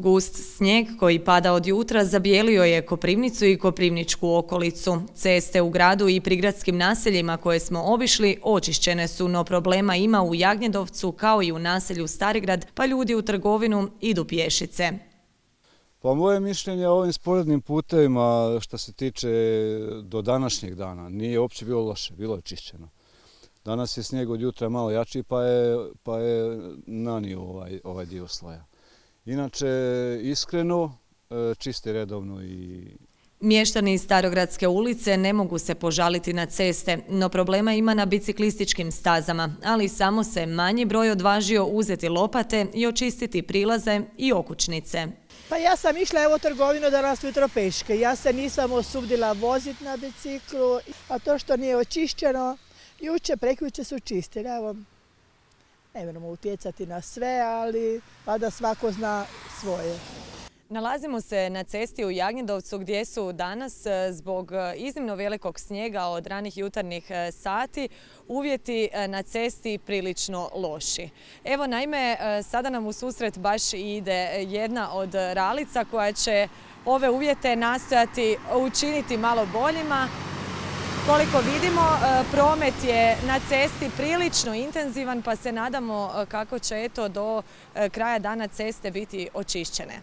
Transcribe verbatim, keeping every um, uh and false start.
Gust snijeg koji pada od jutra zabijelio je Koprivnicu i koprivničku okolicu. Ceste u gradu i prigradskim naseljima koje smo obišli očišćene su, no problema ima u Jagnjedovcu kao i u naselju Starigrad, pa ljudi u trgovinu idu pješice. Pa moje mišljenje o ovim sporednim putevima što se tiče do današnjeg dana nije uopće bilo loše, bilo je čišćeno. Danas je snijeg od jutra malo jači pa je, pa je nanio ovaj, ovaj dio sloja. Inače, iskreno, čisti redovno i... Mještani iz Starogradske ulice ne mogu se požaliti na ceste, no problema ima na biciklističkim stazama, ali samo se manji broj odvažio uzeti lopate i očistiti prilaze i okućnice. Pa ja sam išla evo u trgovinu danas jutro peške. Ja se nisam osudila voziti na biciklu, a to što nije očišćeno, juče, prekjuče su čistili. Evo, ne moramo utjecati na sve, ali da svako zna svoje. Nalazimo se na cesti u Jagnjedovcu gdje su danas zbog iznimno velikog snijega od ranih jutarnjih sati uvjeti na cesti prilično loši. Evo naime, sada nam u susret baš ide jedna od ralica koja će ove uvjete nastojati učiniti malo boljima. Koliko vidimo, promet je na cesti prilično intenzivan, pa se nadamo kako će eto do kraja dana ceste biti očišćene.